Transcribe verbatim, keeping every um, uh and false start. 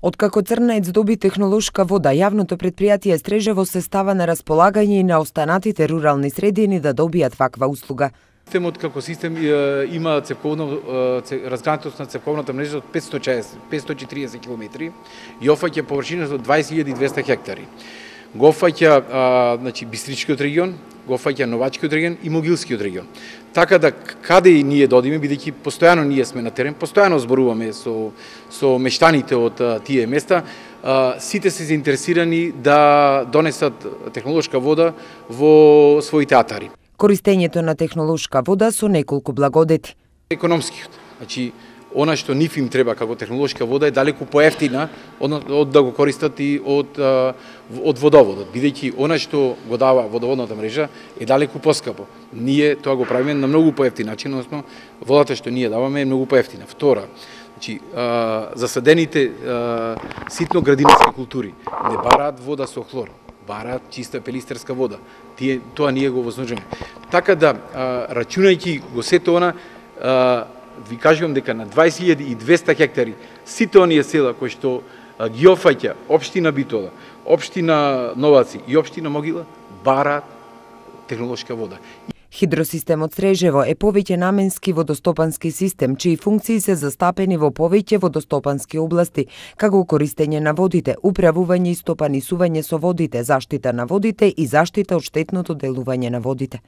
Откако Црнаец доби технолошка вода, јавното предпријатие Стрежево се става на располагање и на останатите рурални средини да добијат ваква услуга. Системот како систем има цевковно разгранатост на цевковната мрежа од петстотини и шаесет до петстотини и триесет километри и офаќа површина од дваесет илјади и двесте хектари. Го офаќа значи Бистричкиот регион, го офаќа Новачкиот регион и Могилскиот регион. Така да каде и ние додиме, бидејќи постојано ние сме на терен, постојано зборуваме со со мештаните од тие места, сите се заинтересирани да донесат технолошка вода во своите атари. Користењето на технолошка вода со неколку благодети. Економскиот, значи она што нив им треба како технолошка вода е далеку поевтина од, од да го користат и од од водоводот, бидејќи она што го дава водоводната мрежа е далеку поскапо. Ние тоа го правиме на многу поевтин начин, односно водата што ние даваме е многу поевтина. Втора, значи засадените ситно градинарски култури не бараат вода со хлор, бараат чиста пелистерска вода. Тие тоа ние го вознужиме. Така да рачунајќи го сето она, ви кажувам дека на дваесет илјади и двесте хектари сите оние села кои што ги офаќа општина Битола, општина Новаци и општина Могила бараат технолошка вода. Хидросистемот Стрежево е повеќе наменски водостопански систем, чии функции се застапени во повеќе водостопански области, како користење на водите, управување и стопанисување со водите, заштита на водите и заштита од штетното делување на водите.